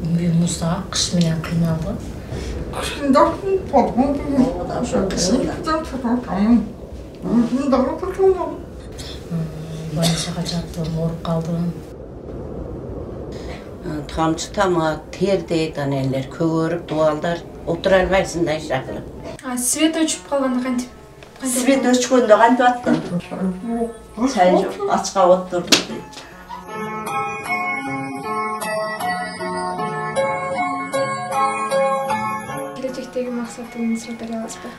Муса кыш менен кыйналды. Больницага жаттым, ооруп калдым. Тамчы тамак, тер дейт, анелер көгөрүп, дубалдар отура албайсың да шакырып. Свет өчүп калганда кантип? Свет өчкөндө кантип аттым? Чай жок, ачка отурдум. Келечектеги максатыңыз сураттар аласызбы?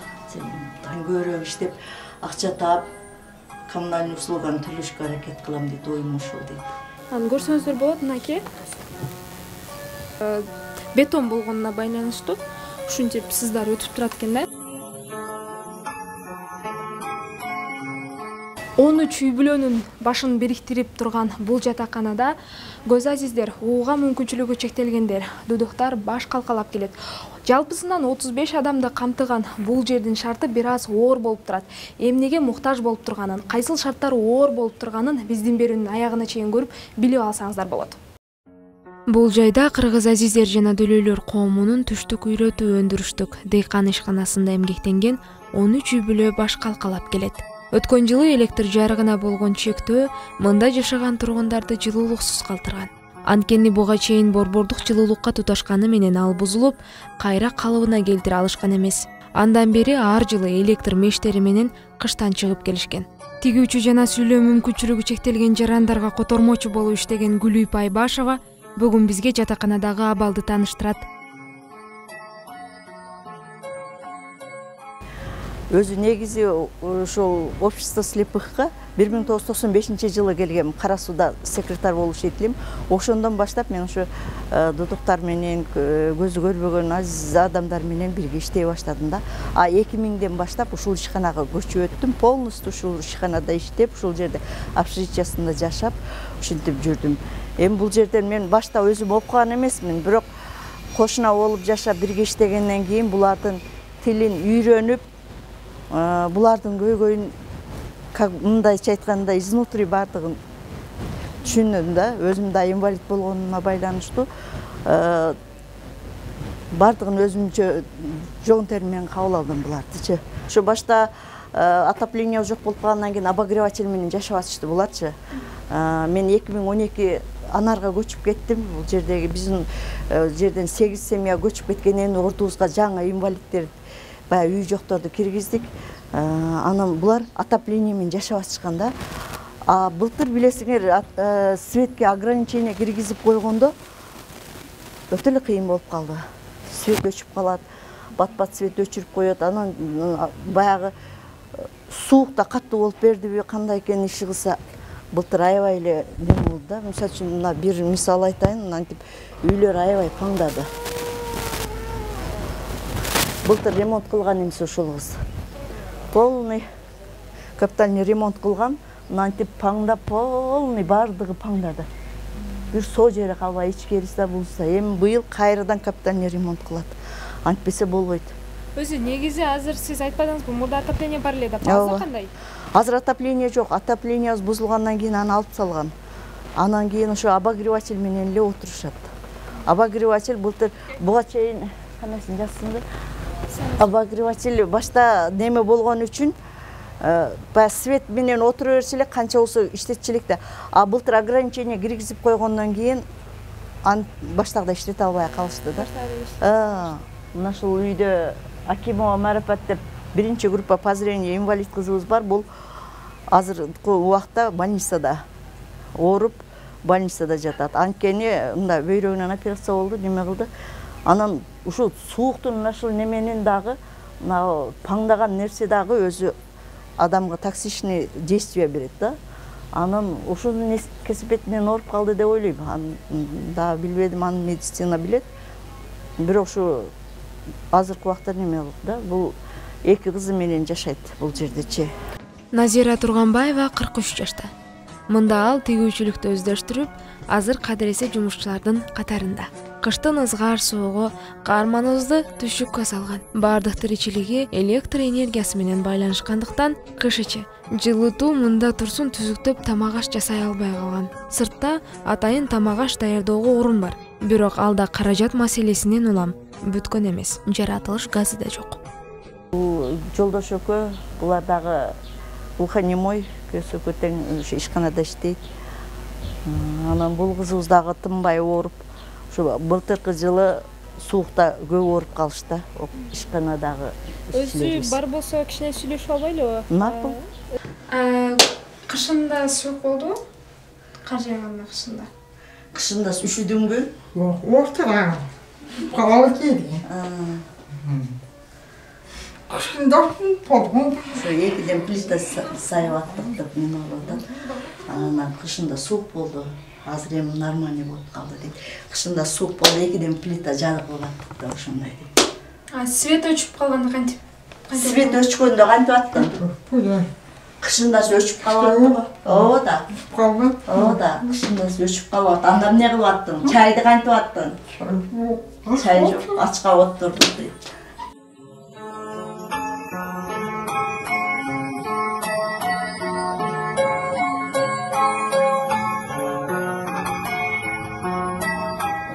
Көбүрөөк иштеп, акча таап, коммунальный услуганы төлөшкө аракет кылам дейт, оюм ушул дейт. Аны көрсөңүздөр болот, мынакей. Бетон болгонуна байланыштуу ушинтип сыздар өтүп турат экен да. 13 үй бүлөнүн башын бириктирип турган бул жатаканада көз азиздер, ууга мүмкүнчүлүгү чектелгендер, дудуктар баш калкалап келет. Жалпысынан 35 адамды камтыган бул жердин шарты бир аз оор болуп турат. Эмнеге муктаж болуп турганын, кайсыл шарттар оор болуп турганын биздин берүүнүн аягына чейин көрүп билип алсаңыздар болот. Бул жайда кыргыз азиздер жана дөлөйлөр коомунун түштүк үйрөтүү өндүрүштүк дыйкан ишканасында эмгектенген 13 үй бүлө баш калкалап келет. Өткөн жылы электр жарыгына болгон чектөө мында жашаган тургундарды жылуулуксуз калтырган. Анткени буга чейин борбордук жылуулукка туташканы менен ал бузулуп, кайра калыбына келтире алышкан эмес. Андан бери ар жылы электр мештери менен кыштан чыгып келишкен. Тигүүчү жана сүйлөө мүмкүнчүлүгү чектелген жарандарга котормочу болуп иштеген Гүлүйп Айбашева бүгүн бизге жатаканадагы абалды тааныштырат. Өзү негизи ошол общество слепыхка 1995 жылы келгем. Кара сууда секретарь болуп иштейт элем. Ошондон баштап мен ошо дудуктар менен, көзү көрбөгөн азиз адамдар менен бирге иштей баштадым да. 2000ден баштап ушул ишканага көчүп өттүм. Полностью ушул ишканада иштеп, ушул жерде общежитиясында жашап, ушинтип жүрдүм. Эми бул жерден мен башта өзүм окуган эмесмин, бирок кошуна болуп жашап бирге иштегенден кийин булардын тилин үйрөнүп, булардын көйгөйүн мындайча айтканда изнутри бардыгын түшүндүм да. Өзүм да инвалид болгонума байланыштуу бардыгын өзүмчө жон тери менен кабыл алдым булардычы. Ошо башта отопление жок болуп калгандан кийин обогреватель менен жашап атышты буларчы. Мен 2012 Анарга көчүп кеттим. Бул жердеги биздин жерден 8 семья көчүп кеткенен ордубузга жаңы инвалидтер үй жокторду киргиздик. Анан булар отопление менен жашап атышкан да. Былтыр билесиңер, светке ограничение киргизип койгондо өтө эле кыйын болуп калды. Свет өчүп калат, бат-бат свет өчүрүп коет. Анан баягы суук да катуу болуп бердиби, кандай экен иши кылса, былтыр аябай эле неме болду да. Мисалы үчүн мына бир мисал айтайын, антип үйлөр аябай паңдады. Былтыр ремонт кылган эмес ошол кыз. Полный капитальный ремонт кылган, антип паңдап, полный бардыгы паңдады. Бир соо жери калбай, ичкерisi да булса. Эми быйыл кайрадан капитальный ремонт кылат. Антпесе болбойт. Өзү негизи азыр сиз айтпадыңызбы, мурда отопление бар эле деп. Азыр кандай? Азыр отопление жок. Отопление бузулгандан кийин аны алып салган. Анан кийин ошо обогреватель менен эле отурушат. Обогреватель былтыр буга чейин канасын жазсыңдар. Обогреватель башта неме болгон үчүн свет менен отура берсе эле канча болсо иштетчү элек да. Былтыр ограничение киргизип койгондон кийин баштагыдай иштете албай калышты да. Мына ушул үйдө Акимова Марапат деп биринчи группа по зрению инвалид кызыбыз бар. Бул азыркы убакта больницада ооруп, больницада жатат. Анткени мында бөйрөгүнөн операция болду, неме кылды. Анан ушул сууктун ушул неменин дагы, мына паңдаган нерсе дагы өзү адамга токсичный действие берет да. Анан ушунун кесепетинен ооруп калды деп ойлойм. Дагы билбедим, аны медицина билет. Бирок ушу азыркы убакта неме болуп да, бул эки кызы менен жашайт бул жердечи. Назира Турганбаева 43 жашта. Мында ал тигүүчүлүктү өздөштүрүп, азыр кадыресе жумушчулардын катарында. кыштын ызгар соогу каарманыбызды түшүккө салган. Бардык тиричилиги электр энергиясы менен байланышкандыктан кыш ичи жылытуу мында турсун түзүктөп тамак аш жасай албай калган. Сыртта атайын тамак аш даярдоого орун бар. Бирок алда каражат маселесинен улам бүткөн эмес. Жаратылыш газы да жок. Жолдош экөө булар дагы глухонемой, көсөкө тең ишканада иштейт. Анан бул кызыбыз дагы тынбай ооруп, ушу былтыркы жылы суукта көп ооруп калышты. Ишканадагы Өзү бар болсо кичине сүйлөшүп албайлыбы? Макул. Кышында суук болдубу? Кар жааганда кышында. Кышында üşüdүңбү? Ортага. Калалы кийди. Кышында болдум. Ошо экиден плита сайып аттык деп неме болуп атат. Анан кышында суук болду. Азыр эми нормальный болуп калды дейт. Кышында суук болду, экиден плита жарыгып аттык деп ошондой дейт. Свет өчүп калганда кантип? Свет өчкөндө кантип аттың? Кышында өчүп калып аттың. Ооба да. Калды. Ооба да. Кышында өчүп калып аттың. Анда эмне кылып аттың? Чайды кантип аттың? Чай жок, ачка отурдук дейт.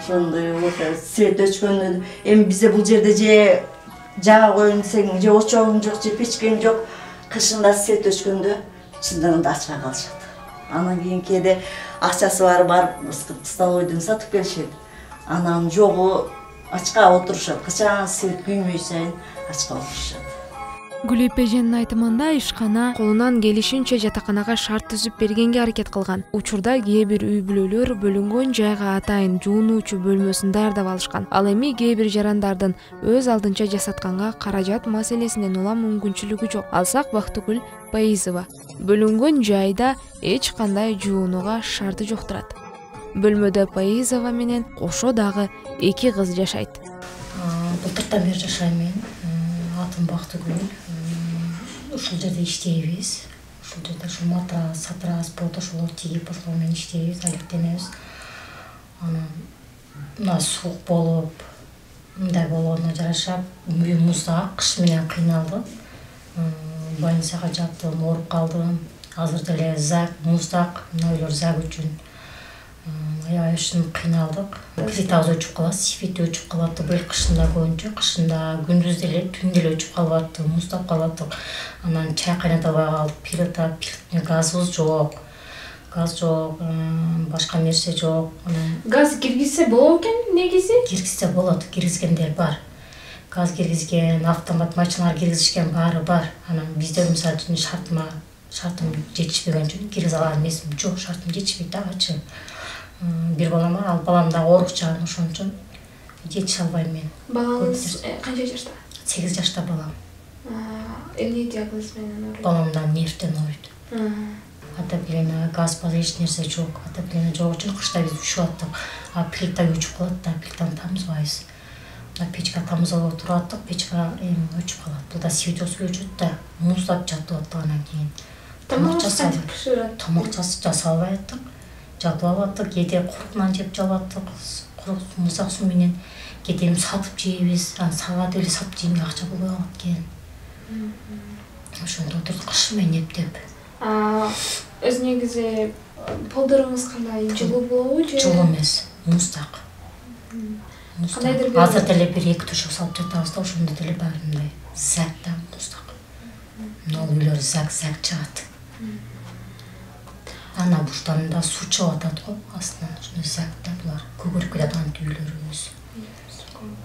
Ошондой свет өчкөндө эми бизде бул жерде же жага коеюн десең, же очогуң жок, же печкең жок. Кышында свет өчкөндө чындыгында ачка калышат. Анан кийин кээде акчасы барып столовойдон сатып келишет. Анан жогу ачка отурушат. Качан свет күймөй сайын ачка отурушат. Гүл эженин айтымында ишкана колунан келишинче жатаканага шарт түзүп бергенге аракет кылган. Учурда кээ бир үй бүлөлөр бөлүнгөн жайга атайын жуунуучу бөлмөсүн даярдап алышкан. Ал эми кээ бир жарандардын өз алдынча жасатканга каражат маселесинен улам мүмкүнчүлүгү жок. Алсак Бактыгүл Паизова бөлүнгөн жайда эч кандай жуунууга шарты жок турат. Бөлмөдө Паизова менен кошо дагы 2 кыз жашайт. Былтыртан бери жашайм мен. Атым Бактыгүл. Ушул жерде иштейбиз. Ушул жерде ушу матрас, сатрас, бот ошолор тигип ошол менен иштейбиз, алектенебиз. Анан мына суук болуп, мындай болгонуна жараша үй муздак, кыш менен кыйналдым. Больницага жаттым, ооруп калдым. Азыр деле зак, муздак, мына үйлөр зак үчүн. Аябай ушун кыйналдык. Плитабыз өчүп калат, свет өчүп калат. Быйыл кышында көбүнчө, кышында күндүз деле, түн деле өчүп калып атты, муздап калаттык. Анан чай кайната албай калдык, плита, газыбыз жок. Газ жок, башка нерсе жок. Газ киргизсе болот экен негизи? Киргизсе болот, киргизгендер бар. Газ киргизген, автомат машиналар киргизишкен баары бар. Анан бизде мисалы үчүн шартым жетишпеген үчүн киргизе алган эмесмин. Жок, шартым жетишпейт дагычы. Бир балам бар, ал балам да оорукчан, ошон үчүн жетише албайм мен. Балаңыз канча жашта? 8 жашта балам. Эмне диагноз менен ооруйт? Баламда нервден ооруйт. Отопление, газ бар, эч нерсе жок. Отопление жок үчүн кышта биз ушуп аттык. А плита өчүп калат да, плитаны тамызбайбыз. Печка тамызып отуруп аттык, печка эми өчүп калат. Бул да свет өчүп да, муздап жатып аттык анан кийин. Тамак кантип пиширет? Тамак жасалбай аттык. Жатып алаттык, кээде курук нан жеп жатып, курук муздак суу менен кээде сатып жейбиз. Анан саат эле сатып жейме акча болбой калат экен. Ошондо отурдук кыш менен эптеп. Өз негизи полдоруңуз кандай, жылуу болобу же? Жылуу эмес, муздак. Кандайдыр бир азыр деле 1-2 төшөк салып жатабыз да, ошондо деле баары мындай зак да муздак. Мына үйлөр зак чыгат. Ана буштанында суу чыгып атат го, астынан ошондой зак да булар. Көгөрүп кетет антип үйлөрүбүз.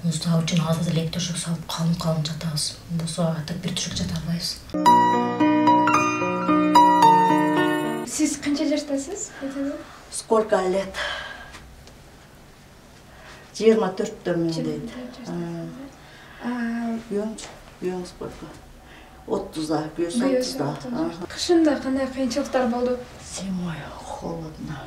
Муздак үчүн азыр деле 2 төшөк салып калың жатабыз. Болсо атып 1 төшөк жата албайбыз. Сиз канча жаштасыз? Сколько лет? 24-төмүн дейт. Күйөөң сколько? 30-да, күйөөсү 30-да. Кышында кандай кыйынчылыктар болду? Зимой холодно.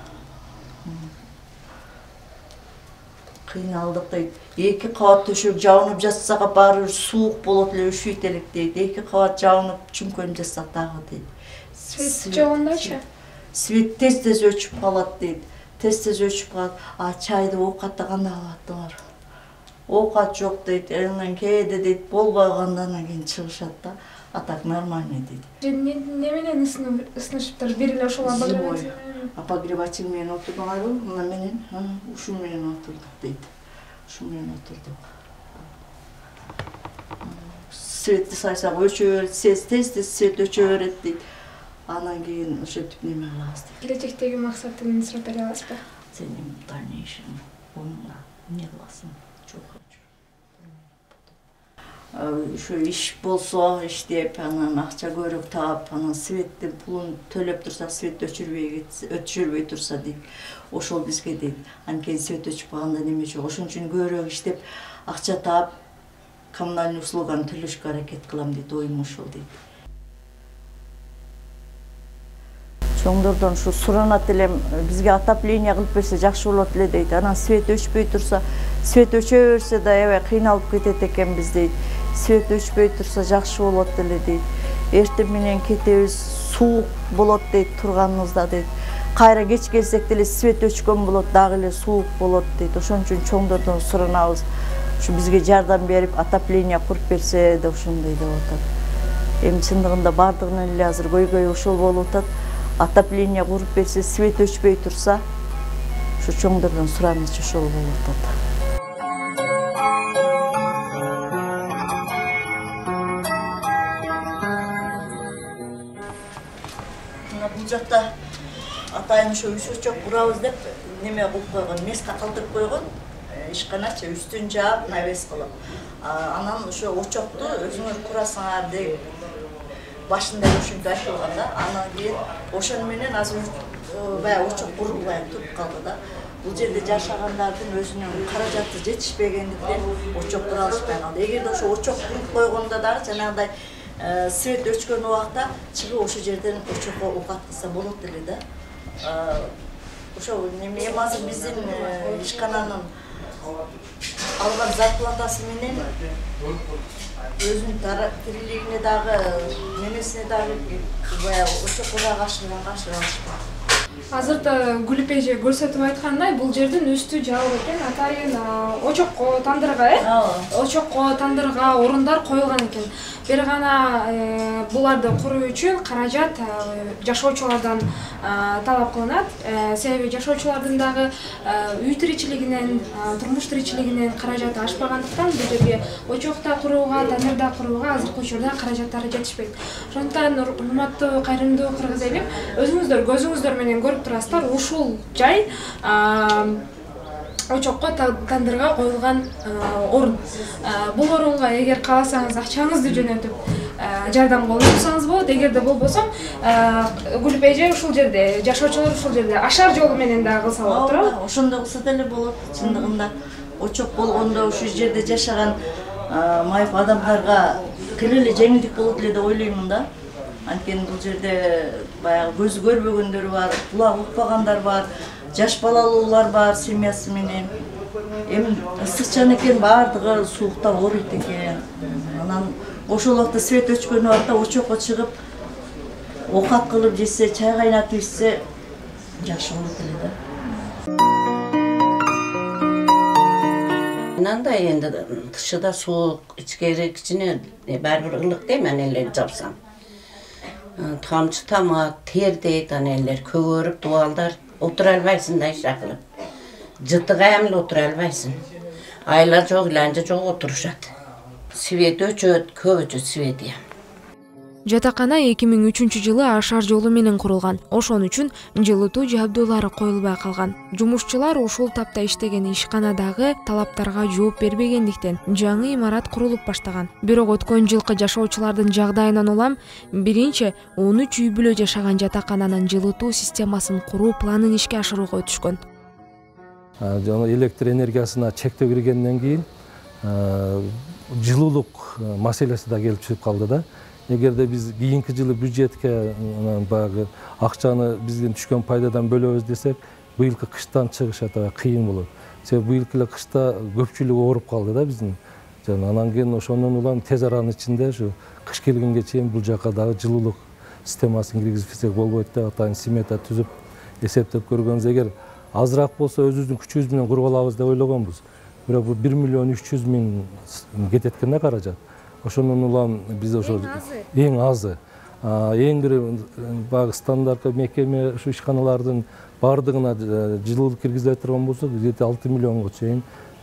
Кыйналдык дейт. 2 кабат төшөк жабынып жатсак баары суук болот эле, üşүйт элек дейт. 2 кабат жабынып чүңкөнүп жатсак дагы дейт. Свет жогондочу? Свет тез өчүп калат дейт. тез өчүп калат. Чайды оокатты кандай кылаттыңар? Оокат жок дейт, анан кээде дейт болбой калганда анан кийин чыгышат да. А так нормально дейт. Неменен ысынышыптыр? Бир эле ошол обогреватель менен отурдуңарбы? Мына менен, ушул менен отурдук дейт. Ушул менен отурдук. Светти сайсак өчө берет, тез свет өчө берет дейт. Анан кийин ошентип неме кылабыз дейт. Келечектеги максатыңды сурап бере аласызбы? Сенин дальнейшем онуна эмне кыласың? Ушу иш болсо иштеп, анан акча көрүп таап, анан светтин пулун төлөп турсак, свет өчүрбөй турса дейт. Ошол бизге дейт. Анткени свет өчүп калганда неме жок. Ошон үчүн көбүрөөк иштеп, акча таап, коммунальный услуганы төлөшкө аракет кылам дейт, оюм ошол дейт. Чоңдордон ушу суранат элем, бизге отопление кылып берсе жакшы болот эле дейт. Анан свет өчпөй турса, свет өчө берсе да аябай кыйналып кетет экенбиз дейт. Свет өчпөй турса жакшы болот эле дейт. Эртең менен кетебиз, суук болот дейт турганыбызда дейт. Кайра кеч келсек деле свет өчкөн болот, дагы эле суук болот дейт. Ошон үчүн чоңдордон суранабыз. Ушу бизге жардам берип, отопление куруп берсе деп ошондой деп атат. Эми чындыгында бардыгынан эле азыр көйгөй ошол болуп атат. Отопление куруп берсе, свет өчпөй турса, ушу чоңдордон суранычы ошол болуп атат. Бул жакта атайын ошо үчөчөк курабыз деп неме кылып койгон, место калтырып койгон. Ишканачы үстүн жаап, навес кылып. Анан ошо очокту өзүңөр курасыңар деп башында ошентип айтылган да. Анан кийин ошону менен азыр баягы очок курулбай туруп калды да. Бул жерде жашагандардын өзүнүн каражаты жетишпегендиктен очок кура алышпай калды. Эгерде ошо очок куруп койгондо дагы жанагындай свет өчкөн убакта чыгып ошол жерден очокко оокат кылса болот эле да. Ошо неме азыр биздин ишкананын алган зарплатасы менен өзүнүн тирилигине дагы немесине дагы баягы очок курага ашыра. Азырда Гүлүп эже көрсөтүп айткандай, бул жердин үстү жабык экен, атайын очокко, тандырга, очокко, тандырга орундар коюлган экен. Бир гана буларды куруу үчүн каражат жашоочулардан талап кылынат. Себеби жашоочулардын дагы үй тиричилигинен, турмуш тиричилигинен каражаты ашпагандыктан бул жерге очокто курууга, тандырда курууга азыркы учурда каражаттары жетишпейт. Ошондуктан урматтуу, кайрымдуу кыргыз элим, өзүңүздөр көзүңүздөр менен көрүп турасыздар, ушул жай очокко, тандырга коюлган орун. Бул орунга эгер кааласаңыз акчаңызды жөнөтүп жардам колдонсаңыз болот. Эгерде болбосо Гүлүп эже ушул жерде, жашоочулар ушул жерде ашар жолу менен дагы кылса болот, туурабы? Ошондой кылса деле болот. Чындыгында очок болгондо ушул жерде жашаган майып адамдарга кыйын эле жеңилдик болот эле деп ойлоймун да. Анткени бул жерде баягы көзү көрбөгөндөр бар, кулагы укпагандар бар, жаш балалуулар бар семьясы менен. Эми ысыкчан экен, бардыгы суукта ооруйт экен. Анан ошол убакта свет өчкөн убакта очокко чыгып оокат кылып жесе, чай кайнатып ичсе жакшы болот эле да. Мынандай энди тышыда суук, ичкери кичине баары бир ылык дейм, анелерди жапсам. Тамчы тамак, тер дейт анелер, көгөрүп, дубалдар, отура албайсың да ишак кылып. Жытыга эмне отура албайсың. Айла жок, иланча жок отурушат. Свет өчөт, көп өчөт свети. Жатакана 2003-жылы ашар жолу менен курулган. Ошон үчүн жылытуу жабдуулары коюлбай калган. Жумушчулар ушул тапта иштеген ишканадагы талаптарга жооп бербегендиктен жаңы имарат курулуп баштаган. Бирок өткөн жылкы жашоочулардын жагдайынан улам биринчи 13 үй бүлө жашаган жатакананын жылытуу системасын куруу планын ишке ашырууга өтүшкөн. Жана электр энергиясына чектөө киргенден кийин жылуулук маселеси да келип чыгып калды да. Эгерде биз кийинки жылы бюджетке баягы акчаны биздин түшкөн пайдадан бөлөбүз десек, быйылкы кыштан чыгыш аябай кыйын болот. Себеби быйылкы эле кышта көпчүлүк ооруп калды да биздин. Анан кийин ошондон улам тез аранын ичинде ушу кыш келгенге чейин бул жака дагы жылуулук системасын киргизсек болбойт деп атайын смета түзүп эсептеп көргөнбүз. Эгер азыраак болсо өзүбүздүн күчүбүз менен куруп алабыз деп ойлогонбуз. Бирок бул 1 миллион 300 миң кетет экен да каражат. Ошонун улам биз ошо эң азы. Эң бир баягы стандарттуу мекеме ушу ишканалардын бардыгына жылуулук киргизе турган болсок, 6 миллионго чейин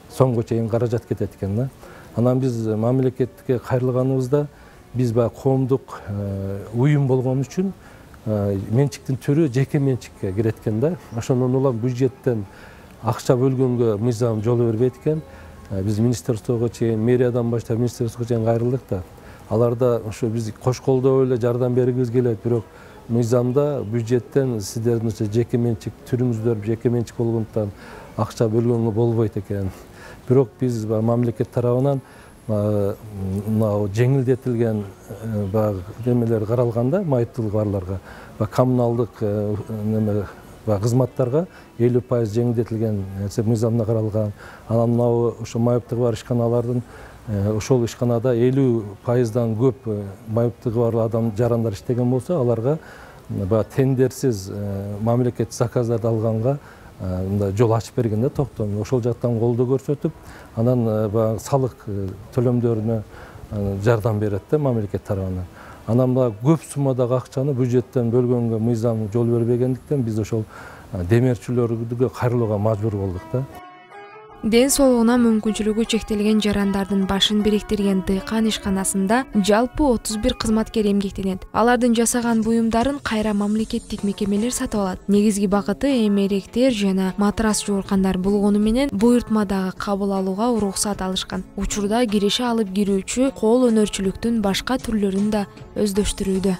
сомго чейин каражат кетет экен да. Анан биз мамлекетке кайрылганыбызда биз баягы коомдук уюм болгон үчүн менчиктин түрү жеке менчикке кирет экен да. Ошондон улам бюджеттен акча бөлгөнгө мыйзам жол бербейт экен. Биз министрликтого чейин, мэриядан баштап министрликке чейин кайрылдык да. Аларда ошо биз кош колдоо эле жардам бергибиз келет, бирок мыйзамда бюджеттен сиздердин жеке менчик түрүңүздөр жеке менчик болгондуктан акча бөлгөнгө болбойт экен. Бирок биз мамлекет тарабынан мына жеңилдетилген баягы немелер каралганда, майыптуулук барларга, коммуналдык неме кызматтарга 50% жеңилдетилген мыйзамда каралган. Анан мына ошо майыптыгы бар ишканалардын ошол ишканада 50%дан көп майыптыгы бар адам жарандар иштеген болсо, аларга тендерсиз мамлекет заказдарды алганга жол ачып берген да, токтом. Ошол жактан колдоо көрсөтүп, анан салык төлөмдөрүнө жардам берет да мамлекет тарабынан. Анан көп суммадагы акчаны бюджеттен бөлгөнгө мыйзам жол бербегендиктен биз ошол демерчилерге кайрылууга мажбур болдук да. Ден соолугуна мүмкүнчүлүгү чектелген жарандардын башын бириктирген дыйкан ишканасында жалпы 31 кызматкер эмгектенет. Алардын жасаган буюмдарын кайра мамлекеттик мекемелер сатып алат. Негизги багыты эмеректер жана матрас жууркандар болгону менен буйртмадагы кабыл алууга уруксат алышкан. Учурда киреше алып кирүүчү кол өнөрчүлүктүн башка түрлөрүн да өздөштүрүүдө.